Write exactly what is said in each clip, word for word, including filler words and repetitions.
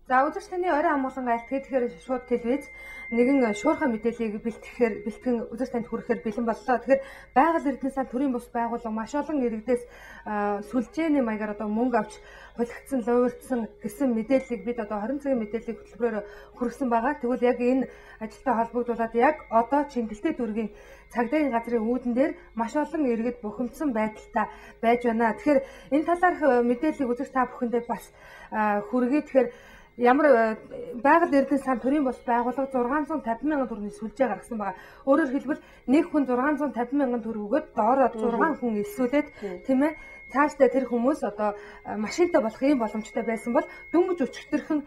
За үзэгч таны орой амгалан айлт тэгэхээр шууд телевиз нэгэн шуурхай мэдээллийг бэлтгэхээр бэлтгэн үзэгч танд хүрэхээр бэлэн боллоо. Тэгэхээр байгаль эрдэнэ сан төрийн бус байгууллага маш олон иргэдээс сүлжээний маягаар одоо мөнгө авч хулигдсан, луурдсан гэсэн мэдээллийг бид одоо хорин цагийн мэдээллийг хөтөлбөрөөр хүргэсэн байгаа. Тэгвэл яг энэ ажилтай холбогдуулаад яг одоо Чингэлтэй дүүргийн цагдаагийн газрын үүдэн дээр маш олон иргэд бухимдсан байдалтай байж байна. Тэгэхээр энэ талаарх мэдээллийг үзэгч та бүхэндээ бас хүргэе. Тэгэхээр ямар байгаль эрдэнэ сан төрийн бус байгууллага зургаан зуун тавин мянган төгрөгийн сүлжээ гаргасан байгаа. Өөрөөр хэлбэл нэг хүн зургаан зуун тавин мянган төгрөг өгөөд доороо зургаан хүн элсүүлээд тийм ээ цаашдаа тэр хүмүүс одоо машинтай болох юм боломжтой байсан бол дөнгөж өчтөрхөн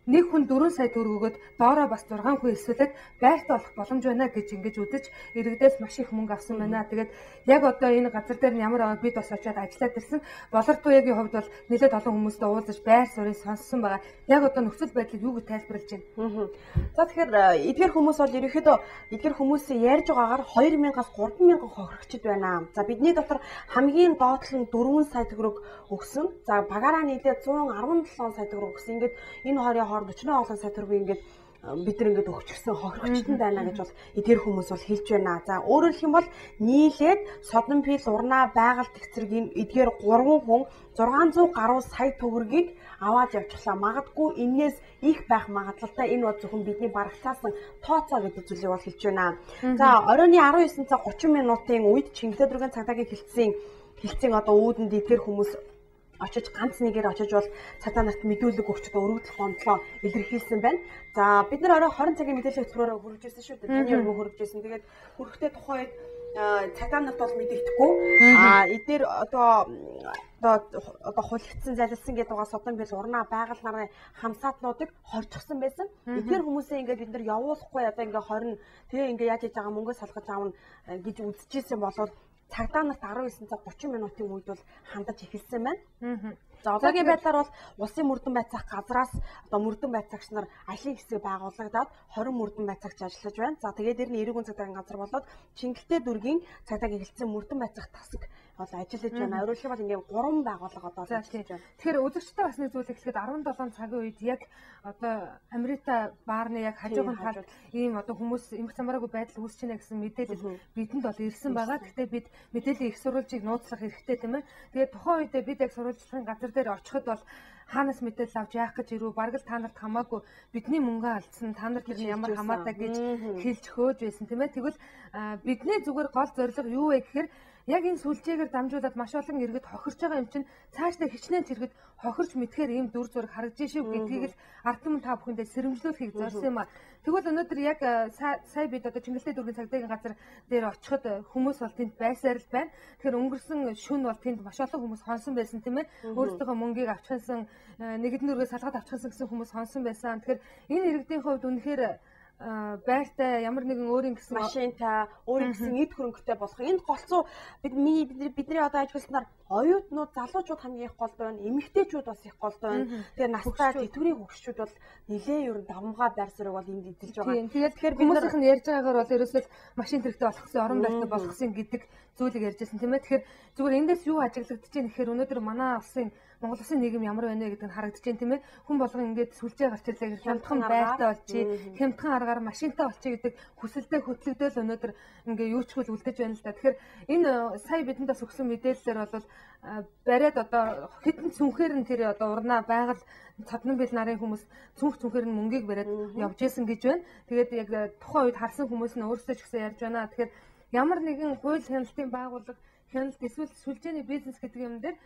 нэг хүн дөрвөн сая төгрөг өгөөд доороо бас зургаан хүн элсүүлээд байрт олох боломж байна гэж ингэж үзэж иргэдээс маш их мөнгө авсан байна. Тэгээд яг одоо энэ газар дээр нь ямар бид бас очиад ажиллаад ирсэн. Болорт туяагийн хувьд бол нэлээд олон хүмүүстэй уулзаж байр суурийг сонссон байгаа. Яг одоо нөхцөл байдлыг юу гэж тайлбарлаж байна? За тэгэхээр эдгээр хүмүүс бол ерөнхийдөө эдгээр хүмүүсийн ярьж байгаагаар хоёр мянгаас гурван мянган хохирогчд байна. За бидний дотор хамгийн доотлон дөрвөн сая төгрөг өгсөн. За багаараа нийлээд зуун арван долоон сая төгрөг өгсөн. Ингээд энэ хоёрын хооронд өчнөө олон сая төгрөгийг ингээд бид нар ингээд өгчихсэн хохирогчтон байна гэж бол эдгээр хүмүүс бол хэлж байна. За өөрөөр хэлэх юм бол нийлээд Содон Пил урнаа байгальд эцэргийн эдгээр гурван хүн зургаан зуун гаруй сая төгрөгийг аваад явчихлаа. Магадгүй энээс их байх магадлалтай. Энэ бол зөвхөн бидний барагцаасан тооцоо гэдэг зүйлийг бол хэлж байна. За оройн арван девять цаг гучин минутын үед Чингэлтэй дүүргийн цагдаагийн хилцээний хилцээний одоо үүдэнд эдгээр хүмүүс очиж ганц нэгээр очиж бол цагдаа нарт мэдүүлэг өгч одоо өргөдөл гомдлоо илэрхийлсэн байна. За бид нар орой хорин цагийн мэдээлэл хөтөлбөрөөр хүргэжсэн шүү дээ. Таны өргөө хүргэжсэн. Тэгээд хүрэхдээ тухайн үед цагдаа нарт бол мэдэгдэхгүй. Аа эдгээр одоо одоо одоо хулигдсан залилсан гэдэг байгаа Содон Пил урнаа байгаль нарын хамсаатнуудыг хорчихсан байсан. Эдгээр хүмүүсээ ингээд бид нар явуулахгүй одоо ингээд хорин тэгээ ингээд яаж хийж байгаа мөнгөө салгаж аавна гэж үзчихсэн болоод цагдаа нарт арван девять цаг гучин минутын үед бол хандаж эхэлсэн байна. За одоогийн байдлаар бол улсын мөрдөн байцаах газраас одоо мөрдөн байцаагч нар аялын хэсэг байгуулагдаад хорин мөрдөн байцаагч ажиллаж байна. За тэгээд дэр нь эрүүгийн цагдаагийн газар болоод Чингэлтэй дүүргийн цагдаагийн хилцэн мөрдөн байцаах тасаг бол ажиллаж байна. Өөрөөр хэлбэл ингээд гурван байгууллага одоо ажиллаж байна. Тэгэхээр үзэгчтэй бас нэг зүйл эхлэхэд арван долоон цагийн үед яг одоо Америта баарны яг хажуугын талд ийм одоо хүмүүс эмх замраагүй байдал үүсэж байна гэсэн мэдээлэл бидэнд бол ирсэн байгаа. Гэхдээ бид мэдээллийн их сурвалжийг нууцлах хэрэгтэй тийм ээ. Тэгээд тухайн үедээ бид яг сурвалжлагын газар дээр очиход бол хаанаас мэдээлэл авч яах гэж ирүү бараг л та нарт хамаагүй бидний мөнгө алдсан та нар тэр ямар хамаатай гэж хэлж хөөж байсан тийм ээ. Тэгвэл бидний зүгээр гол зорилго юу вэ гэхээр яг энэ сүлжээгээр дамжуулаад маш олон иргэд хохирч байгаа юм чинь цаашдаа хичнээн зэрэгт хохирч мэдхээр ийм дүр зураг харагдаж шүү гэдгийг л ард түмэн та бүхэндээ сэрэмжлүүлэхийг зорьсон юм а. Тэгвэл өнөөдөр яг сая бид одоо Чингэлтэй дүүргийн цагдаагийн газар дээр очиход хүмүүс бол тэнд байсаар л байна. Тэгэхээр өнгөрсөн шөнө бол тэнд маш олон хүмүүс хонсон байсан тийм ээ. Өөрсдийнхөө мөнгийг авчихсан нэгдэн дүүргээс салгаад авчихсан гэсэн хүмүүс хонсон байсан. Тэгэхээр энэ иргэдийн хувьд үнэхээр байртай ямар нэгэн өөрийн гэсэн машинтай өөрийн гэсэн эд хөрөнгөтэй болох. Энд голцоо бид миний бидний бидний одоо ажилласнаар оюутнууд залуучууд хамгийн их голд байна. Эмэгтэйчүүд бас их голд байна. Тэгэхээр настай тэтгэврийн хөгшчүүд бол нэлээд ер нь давмгай байр суурийг бол энд эзэлж байгаа. Тэгээд тэгэхээр хүмүүсийнх нь ярьж байгаагаар бол ерөөсөө машин хэрэгтэй болгосон, орон байртай болгосон гэдэг зүйлийг ярьжсэн тийм ээ. Тэгэхээр зүгээр эндээс юу ажиглагдаж байна гэхээр өнөөдөр манай улсын Монгол улсын нийгэм ямар байна вэ гэдэг нь харагдаж байна тийм ээ. Хүн болгон ингээд сүлжээ гарч ирлээ хямдхан байртай болчих, хямдхан аргаар машинтай болчих гэдэг хүсэлтэд хөтлөгдөөл өнөөдөр ингээд юу ч хөл үлдэж байна л да. Тэгэхээр энэ сая бидэнд бас өгсөн мэдээлэлээр бол бариад одоо хитэн цүнхээр нь тэр одоо урнаа байгаль Содон Пил нарын хүмүүс цүнх цүнхээр нь мөнгийг бариад явж исэн гэж байна. Тэгээд яг тухайн үед харсан хүмүүс нь өөрсдөө ч гэсэн ярьж байна. Тэгэхээр ямар нэгэн хууль хяналтын байгууллага хяналт эсвэл сүлжээний бизнес гэдэг юм дээр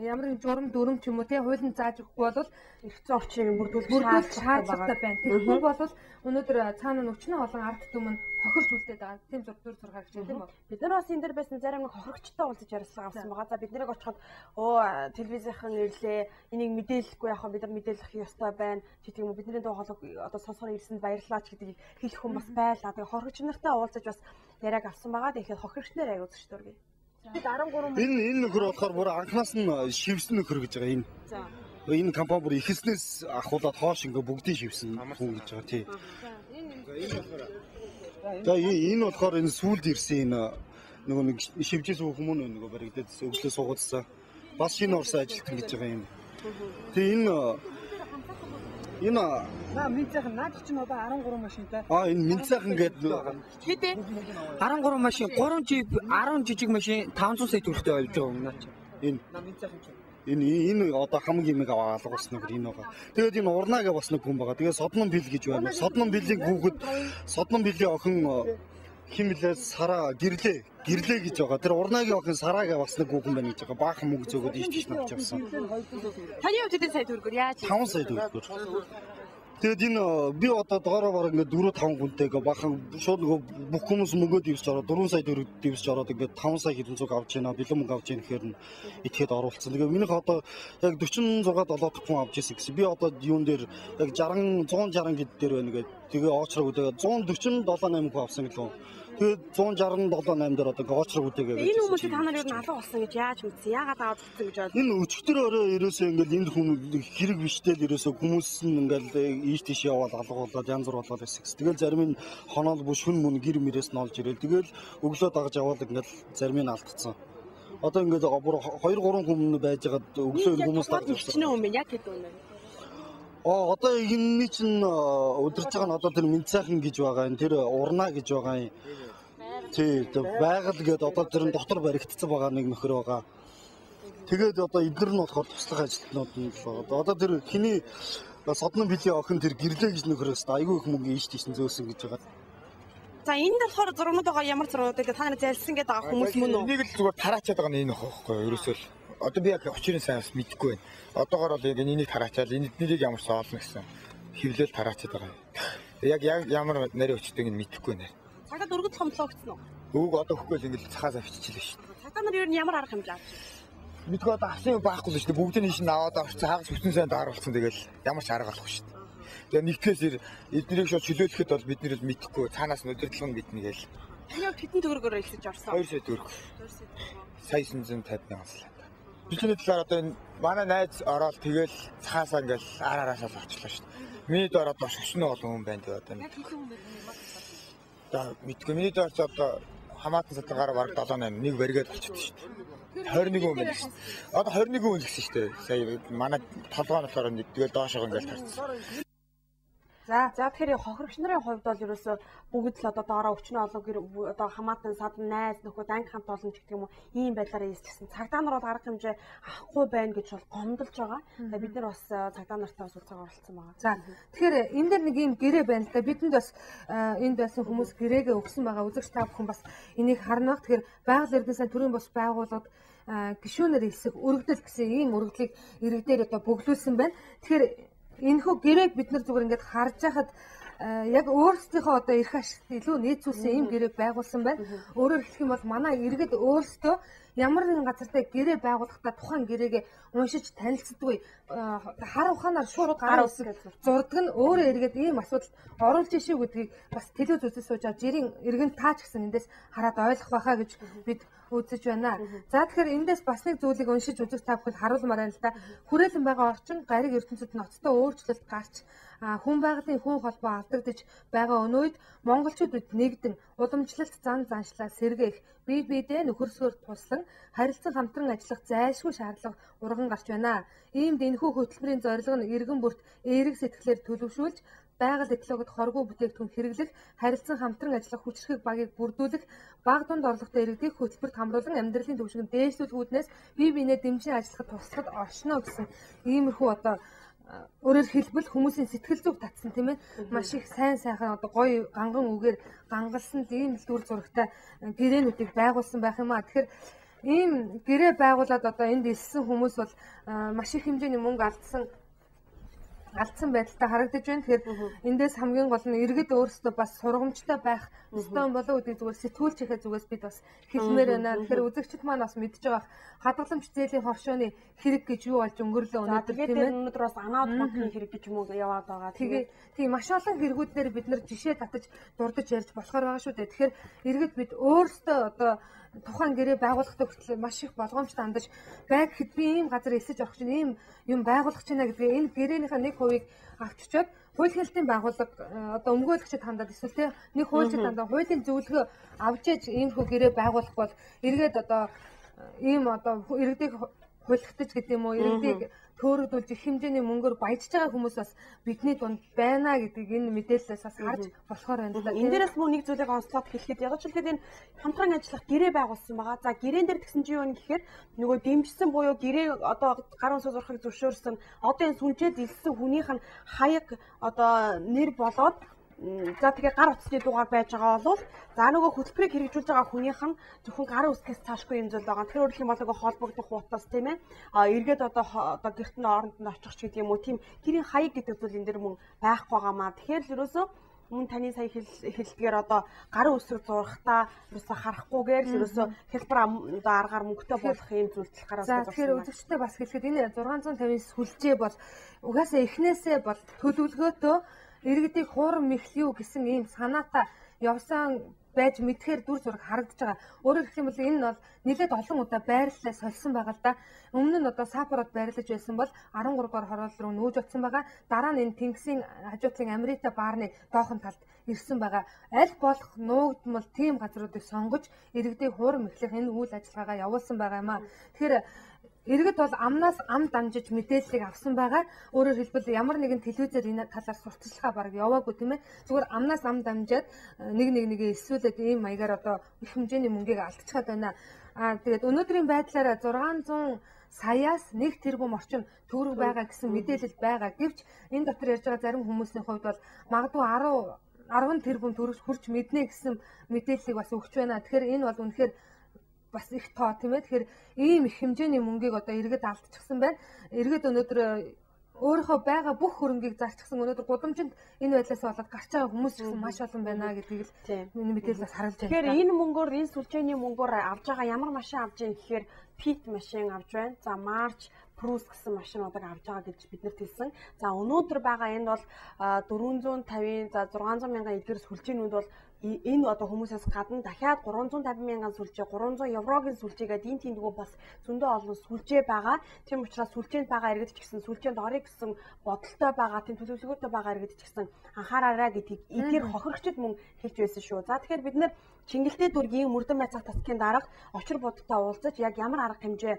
ямар нэгэн журам дүрм ч юм уу тий хуулийн зааж өгөхгүй бол эрх зүйн орчныг бүрдүүлэх шаардлагатай байна. Тэгэхээр бол өнөөдөр цаана нь өчнөө олон ард түмэн хохирч үлдээд байгаа. Тийм зур дүр зур гарч байна тийм үү? Бид нар бас энэ дээр байсан зарим нэг хохирогчтой уулзаж ярилцлага авсан байгаа. За бид нарыг очиход оо телевизийнхэн ирлээ. Энийг мэдээлэхгүй яхаа бид нар мэдээлэх ёстой байна. Чи тийм үү бидний дуу хоолой одоо сонсохоор ирсэнд баярлалаа ч гэдгийг хэлэх хүн бас байлаа. Тэгээ хохирогч нартай уулзаж бас яриаг авсан байгаа. Тэгэхээр хохирогч нар аяг үзэж дургий. Энэ энэ нөхөр болохоор бүр анхнаас нь шивсэн нөхөр гэж байгаа энэ. За. Энэ компани бүр ихэснээс ахуулаад хоош ингээ бүгдийг шивсэн хүн гэж байгаа тий. За энэ болохоор энэ сүулд ирсэн энэ нөгөө нэг шивжээс хүмүүс нөгөө баригдаад өглөө суугацсан. Бас шинэ орсон ажилтан гэж байгаа юм. Тэгээ энэ Энэ наа Минцайхан наад чинь одоо арван гурван машинтай. Аа энэ Минцайхан гэдэг хэдэ арван гурван машин, гурван жип, арван жижиг машин таван зуун сая төгрөгтэй авч байгаа юм наа чи. Энэ наа Минцайхан чинь. Энэ энэ одоо хамгийн нэг алга болсон нэг энэ байгаа. Тэгээд энэ урнаагаа бас нэг хүн байгаа. Тэгээд Соднон бил гэж байна. Соднон билийн хүүхэд Соднон билийн охин химлээ сараа гэрлээ гэрлээ гэж байгаа. Тэр урнаагийн охин сараагаа бас нэг хүүхэн байна гэж байгаа. Баахан мөнгө зөөгөөд ийш тийш навч явсан. Таны хувьд хэдэн сая төгрөгөөр яаж? таван сая төгрөгөөр. Тэгээд энэ би одоо доороо бараг ингээд дөрөв таван хүнтэй гээ бахан шууд нөгөө бүх хүмүүс мөнгөө дэвсэж ороод дөрвөн сая төгрөг дэвсэж ороод ингээд таван сая хэдэн зүг авч байна. Бэлэн мөнгө авч яах гэхээр нь итгэхэд оруулсан. Тэгээд минийх одоо яг дөрвөн зугаад долоо дахь хүн авч ирсэн гэсэн. Би одоо юун дээр яг сixty one sixty хэд дээр байна гэдэг. Тэгээ оочрог үдээ one forty-seven eight хүн авсан гэлөө. Тэгээд one sixty-seven eight дээр одоо гоочрог үдээгээ. Энэ хүмүүс та нар юу н алга болсон гэж яаж үзсэн? Яагаад аваад үзсэн гэж бодлоо? Энэ өчтөр өрөө ерөөсөө ингээл энэ хүн хэрэг биштэл ерөөсөө хүмүүс нь ингээл ийш тийш яваад алга болоод янз бүр болоод байсан. Тэгэл зарим нь хоноол бүш хүн мөн гэр мөрөөс нь олж ирэл. Тэгэл өглөө дагаж яваад ингээл зарим нь алдчихсан. Одоо ингээд бүр two three хүн байж байгаад өглөө хүмүүс дагаж ирсэн юм бэ? Яг хэд үнэ? Аа одоо энэний чинь өдөрж байгаа нь одоо тэр Минцайхан гэж байгаа юм. Тэр урнаа гэж байгаа юм. Тий, байгаль гэдэг одоо тэр дотор баригдсан байгаа нэг нөхөр байгаа. Тэгээд одоо эдгээр нь болохоор туслах ажилтнууд нь л байгаа. Одоо тэр хиний Соднон билийн охин тэр гэрлээ гэж нөхөрөөс айгүй их мөнгө ийш тийш зөөсөн гэж байгаа. За энд болохоор зургууд байгаа ямар зургууд гэдэг та нар залсан гэдэг байгаа хүмүүс мөн үү? Энийг л зүгээр тараачаад байгаа нь энэ байхгүй юу? Ерөөсөө л одоо би яг очирын сайн бас мэдэхгүй байна. Одоогоор бол яг энийг тараачаал энэ эднийг ямар соолно гэсэн хөвлөл тараачаад байгаа юм. Яг яг ямар нарийн өчтөйг нь мэдэхгүй байна. Цагаад өргөд хомлоогдсон уу? Өвөг одоо хөхгүй л ингэж цахаас авчижлээ шүү дээ. Цагаа нар ер нь ямар арга хэмжээ авч байна? Мэдгүй одоо авсан юм байхгүй л шүү дээ. Бүгдийг нь шинэ аваад авчихсан хагас бүтэн сайн дааруулсан тэгэл ямар ч арга болохгүй шүү дээ. Тэгээ нэгтгэс эднийг шууд чөлөөлөхөд бол бид нэр л мэдэхгүй цаанаас нь удирдлага нь мэднэ гээл. Таны хэдэн төгрөгөөр ихсэж орсон? two сая төгрөг. Сая нine hundred fifty мянган. Бичний талаар одоо энэ манай найз ороод тэгэл цаасаа ингээл араараасаа л очлоо шүү дээ. Миний доор одоо шошно бол хүн байна тэгээ одоо. Яг хэдэн хүн байна? За мэдгүй миний доор ч одоо хамаатан сатгаар бараг seven eight нэг баригээд болчихсон шүү дээ. twenty-one хүн байна шүү дээ. Одоо twenty-one хүн гэсэн шүү дээ. Сая манай толгой нь болохоор нэг тэгэл доошоо ингээл тарцсан. За за тэгэхээр хохирогч нарын хувьд бол ерөөсөө бүгд л одоо доороо өчнөө олоо гэр одоо хамаатан садан найз нөхөд анги хамт олон ч гэх юм уу ийм байдлаараа ийсчихсэн. Цагдаа нар бол арга хэмжээ авахгүй байна гэж бол гомдолж байгаа. Тэгээ бид нар бас цагдаа нартай бас уулзаагаар оролцсон байгаа. За тэгэхээр энэ дээр нэг ийм гэрээ байна л да. Бидэнд бас энд байсан хүмүүс гэрээгээ өгсөн байгаа. Үзэгч та бүхэн бас энийг харна. Тэгэхээр байгаль эрдэнэ сан төрийн бус байгууллагад гишүүнээр хэсэг өргөдөл гэсэн ийм өргөдлийг иргэдээр одоо бөглүүлсэн байна. Тэгэхээр энэхүү гэрээг бид нар зүгээр ингээд харж байхад яг өөрсдийнхөө одоо эрх ашигт илүү нийцүүлсэн ийм гэрээг байгуулсан байна. Өөрөөр хэлэх юм бол манай иргэд өөрсдөө ямар нэгэн газартай гэрээ байгуулахдаа тухайн гэрээгээ уншиж танилцдаггүй хар ухаанаар шууд гар үсэг зурдаг нь өөрөө эргээд ийм асуудалд оруулж ишүү гэдгийг бас телевиз үзэж сууж байгаа жирийн иргэн таач гэсэн эндээс хараад ойлгох байхаа гэж бид үзэж байна. За тэгэхээр эндээс бас нэг зүйлийг уншиж үзэх та бүхэнд харуулмаар байна л да. Хүрээлэн байгаа орчин гариг ертөнцид ноцтой өөрчлөлт гарч хүн байгалийн хүн холбоо алдагдаж байгаа өнөөд монголчууд бид нэгдэн уламжлалт зан заншлаа сэргээх бие биедээ нөхөрсгөөр туслан харилцан хамтран ажиллах зайлшгүй шаардлага урган гарч байна. Иймд энэхүү хөтөлбөрийн зорилго нь иргэн бүрт эерэг сэтгэлээр төлөвшүүлж байгаль экологид хоргүй бүтээгдэхүүн хэрэглэх, харилцан хамтран ажиллах хүчирхэг багийг бүрдүүлэх, баг дунд орлоготой иргэдийг хөтөлбөрт хамруулан амьдралын түвшинг дээшлүүлэх үүднээс бие биенээ дэмжин ажиллахад туслахад оршно гэсэн иймэрхүү одоо өөрөөр хэлбэл хүмүүсийн сэтгэл зүг татсан тийм ээ маш их сайн сайхан одоо гоё ганган үгээр гангалсан ийм л дүр зурагтай гэрээнүүдийг байгуулсан байх юм аа. Тэгэхээр ийм гэрээ байгуулад одоо энд илсэн хүмүүс бол маш их хэмжээний мөнгө алдсан алдсан байдалтай харагдаж байна. Тэгэхээр эндээс хамгийн гол нь иргэд өөрсдөө бас сургамжтай байх ёстой болоо гэдэг зүгээр сэтгүүлч ихэ зүгээс бид бас хэлмээр байна. Тэгэхээр үзэгчд маань бас мэдж байгаа хадгаламж зээлийн хоршооны хэрэг гэж юу болж өнгөрлөө өнөөдөр тийм ээ. Өнөөдөр бас анаад банкны хэрэг гэж юм уу яваад байгаа. Тэгээ тийм маш олон хэрэгүүдээр бид нар жишээ татаж дурдж ярьж болохоор байгаа шүү дээ. Тэгэхээр иргэд бид өөрсдөө одоо тухайн гэрээ байгуулахдаа хүртэл маш их болгоомжтой хандаж байг хэд би ийм газар эсэж орох чинь ийм юм байгуулах чинь гэдгээ энэ гэрээнийхээ нэг хувийг авчичоод хууль хэлтийн байгууллага одоо өмгөөлөгчд хандаад эсвэл тэ нэг хуульчид хандаад хуулийн зөвлөгөө авч ээж ийм хөө гэрээ байгуулах бол эргээд одоо ийм одоо иргэдийг хулигдаж гэдэг юм уу иргэдийг төөрөгдүүлж их хэмжээний мөнгөөр баяжж байгаа хүмүүс бас бидний дунд байна гэдгийг энэ мэдээлэлээс бас харж болохоор байна л да. Энэ дээрээс мөн нэг зүйлийг онцлоод хэлэхэд яг ч хэлэхэд энэ хамтран ажиллах гэрээ байгуулсан байгаа. За гэрээн дээр тэгсэн чинь юу вэ гэхээр нөгөө дэмжсэн буюу гэрээ одоо гар унсаа зурхыг зөвшөөрсөн одоо энэ сүнжээ зэлсэн хүнийх нь хаяг одоо нэр болоод за тэгээ гар утасны дугаар байж байгаа бол за нөгөө хөтөлбөрийг хэрэгжүүлж байгаа хүнийх нь зөвхөн гарын үсгээс цаашгүй юм зүйл байгаа. Тэгэхээр өөрөлдөх юм бол нөгөө холбогдох утас тийм ээ. А эргээд одоо одоо гэрт нь оронд нь очих ч гэдэг юм уу тийм гэрийн хаяг гэдэг зүйл энэ дэр мөн байхгүй байгаамаа. Тэгэхээр л ерөөсөө мөн таны сая хэлдгээр одоо гарын үсэг зурхтаа ерөөсөө харахгүйгээр л ерөөсөө хэлбэр одоо аргаар мөнгөтэй болох юм зүйлс гараад байна. Тэгэхээр үзэгчтэй бас хэлэхэд энэ зургаан зуун тавин сүлжээ бол угаасаа эхнээсээ бол төлөвлөгөөтөө иргэдийг хуурам мэхлэв гэсэн ийм санаатай явсан байж мэдхээр дүр зураг харагдаж байгаа. Өөрөөр хэлэх юм бол энэ бол нэлээд олон удаа байрлалаа сольсон байгаа л да. Өмнө нь одоо сапород байрлаж байсан бол арван гурав дугаар хороол руу нүүж очсон байгаа. Дараа нь энэ Тэнгисийн хажуутлын Америта баарны доохон талд ирсэн байгаа. Аль болох нуугдмал тийм газруудыг сонгож иргэдийг хуурам мэхлэх энэ үйл ажиллагаагаа явуулсан байгаа юм аа. Тэгэхээр иргэд бол амнаас ам дамжиж мэдээллийг авсан байгаа. Өөрөөр хэлбэл ямар нэгэн телевизээр энэ талаар сурталчилгаа бараг яваагүй тийм ээ. Зүгээр амнаас ам дамжаад нэг нэг нэгээ эсвэлээд ийм маягаар одоо их хэмжээний мөнгийг алдчихад байна. Аа тэгээд өнөөдрийн байдлаараа зургаан саяас нэг тэрбум орчим төгрөг байгаа гэсэн мэдээлэл байгаа. Гэвч энэ дотор ярьж байгаа зарим хүмүүсийн хувьд бол магадгүй арван тэрбум төгрөг хүрч мэднэ гэсэн мэдээллийг бас өгч байна. Тэгэхээр энэ бол үнэхээр бас их тоо тийм ээ. Тэгэхээр ийм их хэмжээний мөнгийг одоо иргэд алдчихсан байна. Иргэд өнөөдөр өөрийнхөө байгаа бүх хөрөнгийг зарчихсан. Өнөөдөр гудамжинд энэ байдлаас болоод гарч байгаа хүмүүс ч гэсэн маш олон байна гэдгийг л миний мэдээлэлээс харж байна. Тэгэхээр энэ мөнгөөр энэ сүлжээний мөнгөөр авж байгаа ямар машин авж байгаа гэхээр Пит машин авж байна. За Марч Прус гэсэн машинуудыг авж байгаа гэж биднэрт хэлсэн. За өнөөдөр байгаа энэ бол дөрвөн зуун тавин за зургаан зуун мянган эдгээр сүлжээнүүд бол энэ одоо хүмүүсээс гадна дахиад гурван зуун тавин мянган сүлжээ, гурван зуун еврогийн сүлжээгээд энэ тиймдгүү бас зөндөө олон сүлжээ байгаа. Тийм учраас сүлжээнд байгаа иргэд ч гэсэн сүлжээнд орё гэсэн бодолтой байгаа, тийм төлөвлөгөөтэй байгаа иргэд ч гэсэн анхаараарай гэдгийг эдгээр хохирогчд мөн хэлж байсан шүү. За тэгэхээр бид нэр Чингэлтэй дүүргийн мөрдөн байцаах тасгийн дарга очир будтай уулзаж яг ямар арга хэмжээ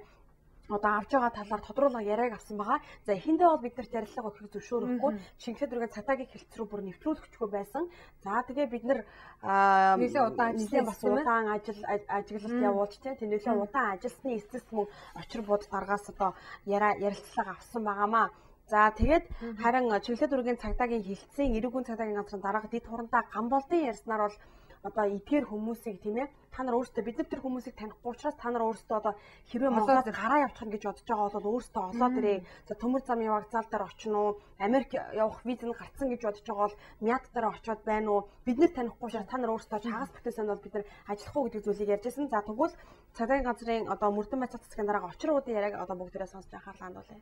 одоо авч байгаа талаар тодруулах яриаг авсан байгаа. За эхэндээ бол бид нарт ярилцлага өгөхийг зөвшөөрөхгүй Чингэлтэй дүүргийн цатагийн хэлц рүү бүр нэвтрүүлэхчгүй байсан. За тэгээ бид нар нэлээд удаан ажилласан бас удаан ажил ажиглалт явуулж тийм нэлээд удаан ажилласны эцэст мөн очир буд даргаас одоо ярилцлага авсан байгаамаа. За тэгээд харин Чингэлтэй дүүргийн цагдаагийн хэлтсийн эрүүгийн цагдаагийн газрын дарга дэд хурандаа Гамболдын ярьснаар бол одоо эдгээр хүмүүсийг тийм ээ та нар өөрсдөө бид нар тэр хүмүүсийг танихгүй учраас та нар өөрсдөө одоо хэрвээ Монголд гараа явуулах гэж бодож байгаа бол өөрсдөө олоод ирээ. За төмөр замын вокзал дээр очно уу? Америк явах виз нь гарцсан гэж бодож байгаа бол Мят дээр очиод байна уу? Бид нар танихгүй учраас та нар өөрсдөө чагаас бүтээсэн бол бид нар ажиллах уу гэдэг зүйлийг ярьж байсан. За тэгвэл цагдаагийн газрын одоо мөрдөн байцаах засгийн дараагаа очруудын яриаг одоо бүгдээрээ сонсож анхаарлаа хандуулъя.